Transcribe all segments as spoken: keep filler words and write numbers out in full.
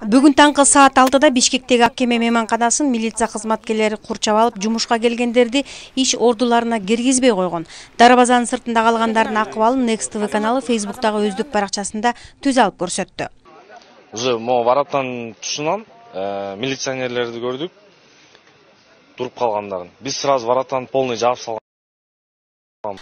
Бүгүн таңкы саат алтыда Бишкектеги Аккеме мейманканасын милиция кызматкерлери курчап алып, жумушка келгендерди иш ордуларына киргизбей койгон. Дарбазанын сыртында калгандардын акыбалын Next ти ви каналы Facebook'тагы өздүк баракчасында түз алып көрсөттү. Уже могу вараттан тушунан милиционерлерди көрдүк, туруп калгандарын. Биз сразу вараттан полный жаап салган.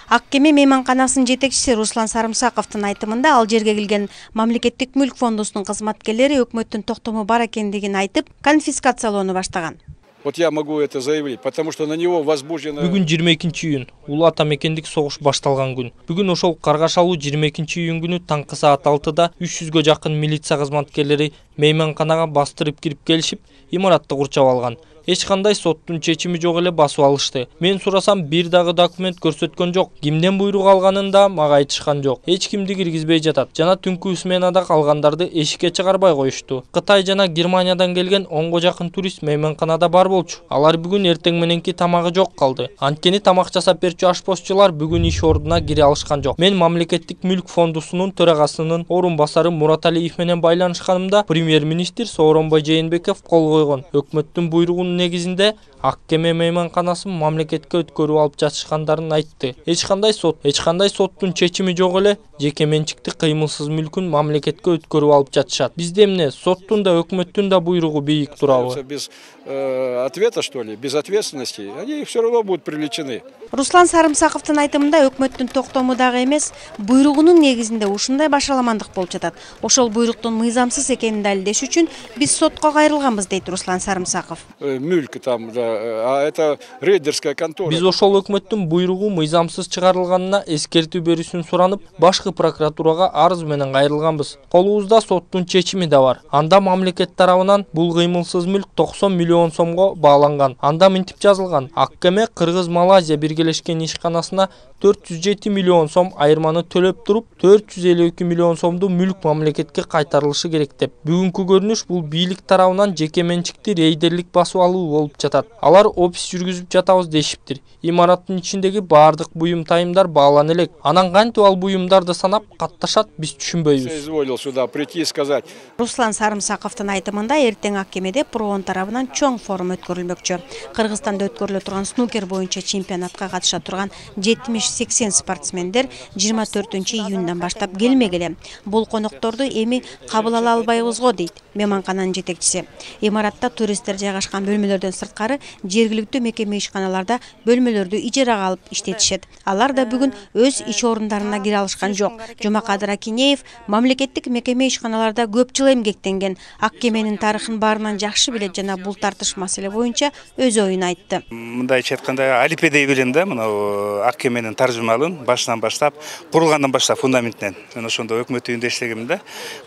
Аккеме мейманканасынын жетекчиси Руслан Сарымсаковдун айтымында, ал жерге келген мамлекеттик мүлк фондусунун кызматкерлери өкмөттүн токтому бар экендигин айтып, конфискациялоону баштаган. Вот я могу это заявить, потому что на него возбуждено. Бүгүн жыйырма экинчи июнь, улуу ата мекендик согуш башталган күн. Бүгүн ошол каргашалуу жыйырма экинчи июнь күнү таңкы саат алтыда үч жүзгө жакын милиция кызматкерлери мейманканага бастырып кирип келишип, имаратты курчап алган. Эч кандай соттун чечими жок эле басып алышты. Мен сурасам, бир дагы документ көрсөткөн жок. Кимден буйрук алганын да мага айтышкан жок. Эч кимди киргизбей жатат. Жана түнкү сменада калгандарды эшикке чыгарбай коюшту. Кытай жана Германиядан келген онго жакын турист мейманканада бар болчу. Алар бүгүн эртең мененки тамагы жок калды. Анткени тамак жасап берчү ашпозчулар бүгүн иш ордуна кире алышкан жок. Мен мамлекеттик мүлк фондусунун төрагасынын орун басары Мурат Алиев менен байланышканымда премьер-министр Сооронбай Жээнбеков кол койгон. Өкмөттүн буйругунун негизинде Аккеме мейманканасын мамлекетке өткөрүп алып жатышкандарын айтты. Эч кандай сот, эч кандай соттун чечими жок эле жеке менчикти кыймылсыз мүлкүн мамлекетке өткөрүп алып жатышат. Бизде эмне соттун да өкмөттүн да буйругу бийик турабы? Без ответа, что ли, без ответственности, они все равно будут привлечены. Руслан Сарымсаковдун айтымында, өкмөттүн токтому дагы эмес, буйругунун негизинде ушундай башаламандык болуп жатат. Ошол буйруктун мыйзамсыз экенин далилдеш үчүн биз сотко кайрылганбыз, дейт Руслан Сарымсаков. Мүлк там, да, а это рейдерская контора. Биз ошол өкмөттүн буйругу мыйзамсыз чыгарылганына эскертүү берүүсүн суранып, башкы прокуратурага арыз менен кайрылганбыз. Колубузда соттун чечими да бар. Анда мамлекет тарабынан бул кыймылсыз мүлк токсон миллион сомго бааланган. Анда мынтип жазылган: Аккеме Кыргыз-Малайзия биргелешкен ишканасына төрт жүз жети миллион сом айырманы төлөп туруп, төрт жүз элүү эки миллион сомду мүлк мамлекетке кайтарылышы керек деп. Бүгүнкү көрүнүш бул бийлик тарабынан жеке менчикти рейдерлик басып алуу болуп жатат. Алар опис жүргүзүп жатабыз дешиптир. Имараттын ичиндеги баардык буюм тайымдар баалана элек. Анан кантип ал буюмдарды санап катташат, биз түшүнбөйбүз. Изволил сюда прийти и сказать. Руслан Сарымсаковдун айтымында, эртең Аккемеде Проон тарабынан чоң форум өткөрүлмөкчү. Кыргызстанда өткөрүлө турган снукер боюнча чемпионатка катыша турган жетимиш сексен спортсмендер жыйырма төртүнчү июндан баштап келмек эле. Бул конокторду эми кабыл ала албайбыз го, дейт мейманкананын жетекчиси. Имаратта туристтер жайгашкан бөлмөлөрдөн сырткары жергиликтүү мекеме ишканаларда бөлмөлөрдү ижарага алып иштетишет. Алар да бүгүн өз иш орундарына кире алышкан жок. Жомакадыр Акинеев мамлекеттик мекеме ишканаларда көп жыл эмгектенген, Аккеменин тарыхын баарынан жакшы билет жана бул тартыш маселе боюнча өз оюн айтты. Мындайча айтканда, алипедей билем да, мына Аккеменин таржымалын башынан баштап, курулгандан баштап фундаментинен. Мен ошондо өкмөт үйүндө иштегем да.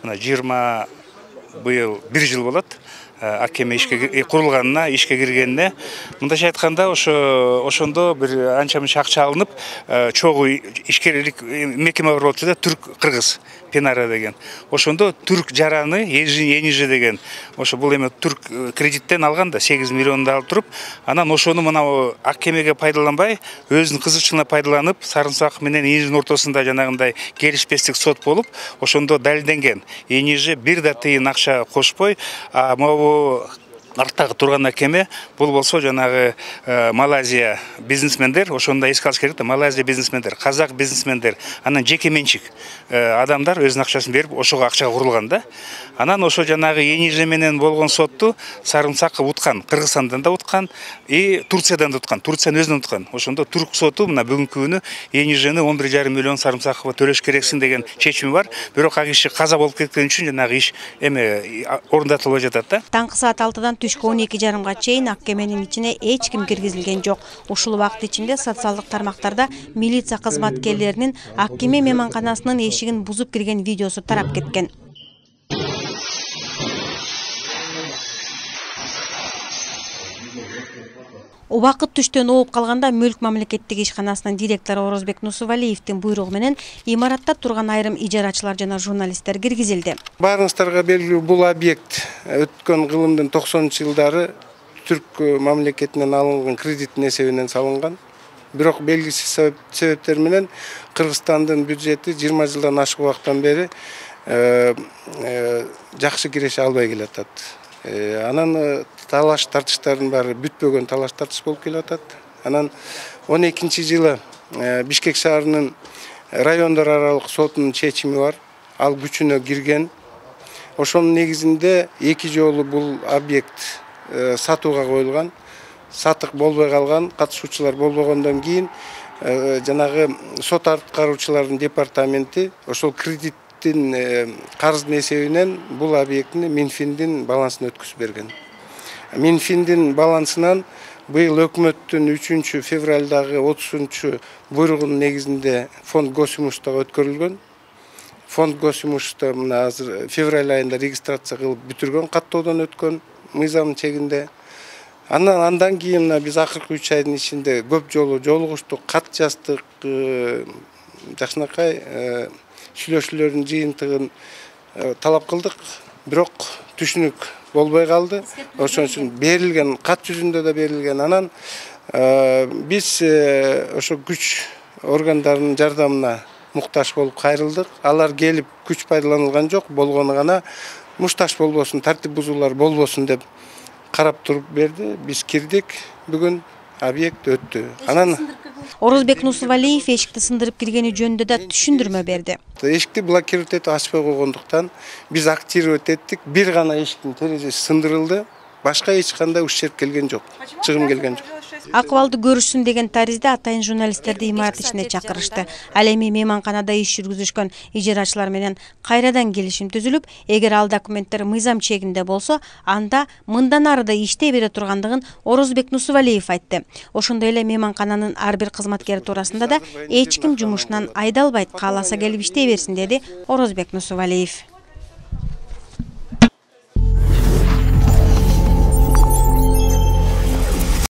Мына жыйырма быйыл бир жыл болот. Аккеме ишке курулганына, ишке киргенине. Мындайча айтканда, ошо ошондо бир анча-мынча акча алынып, чогуу ишкерлик мекеме бар болчу да, Түрк-Кыргыз Пенара деген. Ошондо Түрк жараны, Енижи деген. Ошо бул эме Түрк кредиттен алган да, сегиз миллионду алып туруп, анан ошону мына Аккемеге пайдаланбай, өзүнүн кызыкчылыгына пайдаланып, Сарымсаков менен Енижинин ортосунда жанагындай келишпестик сот болуп, ошондо далилденген. Енижи бир да тыйын акча кошпой, а могу арттагы турган Аккеме бул болсо жанагы Малайзия бизнесмендер, ошондо эске алыш керек да, Малайзия бизнесмендер, казак бизнесмендер, анан жеке менчик адамдар өзүнүн акчасын берип, ошого акчага курулган да. Анан ошо жанагы Енижи менен болгон сотту Сарымсаков уткан, Кыргызстандан да уткан, и Турциядан да уткан, Турциянын өзүнөн уткан. Ошондо Түрк соту мына бүгүнкү күнү Енижини он бир жарым миллион Сарымсаковго төлөш керексиң деген чечими бар. Бирок ал киши каза болуп кеткени үчүн жанагы иш эме орундатылбай жатат да. Таңкы саат алтыдан түшкү он эки жарымга чейин Аккеменин ичине эч ким киргизилген жок. Ушул убакыт ичинде социалдык тармактарда милиция кызматкерлеринин Аккеме мейманканасынын эшигин бузуп кирген видеосу тарап кеткен. Убакыт түштөн ооп калганда Мүлк мамлекеттик ишканасынын директору Орозбек Нусувалиевдин буйругу менен имаратта турган айрым ижарачылар жана журналисттер киргизилди. Баарыңыздарга белгилүү, бул объект өткөн кылымдын токсонунчу жылдары Түрк мамлекетинен алынган кредиттин эсебинен салынган. Бирок белгисиз себептер менен Кыргызстандын бюджети жыйырма жылдан ашык убакыттан бери жакшы киреше албай келатат. Анан талаш тартыштардын баары бүтпөгөн талаш тартыш болуп келатат. Анан он экинчи жылы Бишкек шаарынын райондор аралык сотунун чечими бар. Ал күчүнө кирген. Ошонун негизинде эки жолу бул объект сатууга коюлган. Сатык болбой калган, катышуучулар болбогондон кийин жанагы сот аткаруучулардын департаменти ошол кредиттин карыздын эсебинен бул объектини Минфиндин балансына өткүзүп берген. Минфиндин балансынан быйыл өкмөттүн үчүнчү февралдагы отузунчу буйругунун негизинде фонд госимуществого өткөрүлгөн. Фонд госимущество мына азыр февраль айында регистрация кылып бүтүргөн, каттоодон өткөн мыйзамдын чегинде. Андан андан кийин мына биз акыркы үч айдын ичинде көп жолу жолугуштук, кат жаздык, жакшынакай сүйлөшүүлөрдүн жыйынтыгын талап кылдык, бирок түшүнүк болбой калды. Ошон үчүн берилген, кат жүзүндө да берилген. Анан биз ошо күч органдарынын жардамына муктаж болуп кайрылдык. Алар келип күч пайдаланылган жок, болгону гана мушташ болбосун, тартип бузуулар болбосун деп карап туруп берди. Биз кирдик, бүгүн объект өттү. Анан Орозбек Нусувалиев эшикти сындырып киргени жөнүндө да түшүндүрмө берди. Эшикти блокировать этип ачпай койгондуктан биз активировать эттик. Бир гана эшиктин терезеси сындырылды. Башка эч кандай ущерб келген жок, чыгым келген жок. Акыбалды көрүшсүн деген таризде атайын журналисттерди имарат ичине чакырышты. Ал эми мейманканада иш жүргүзүшкөн ижарачылар менен кайрадан келишим түзүлүп, эгер ал документтер мыйзам чегинде болсо, анда мындан ары да иштей бере тургандыгын Орозбек Нусувалиев айтты. Ошондой эле мейманкананын ар бир кызматкери туурасында да эч ким жумушунан айдалбайт, кааласа келип иштей берсин, деди Орозбек Нусувалиев.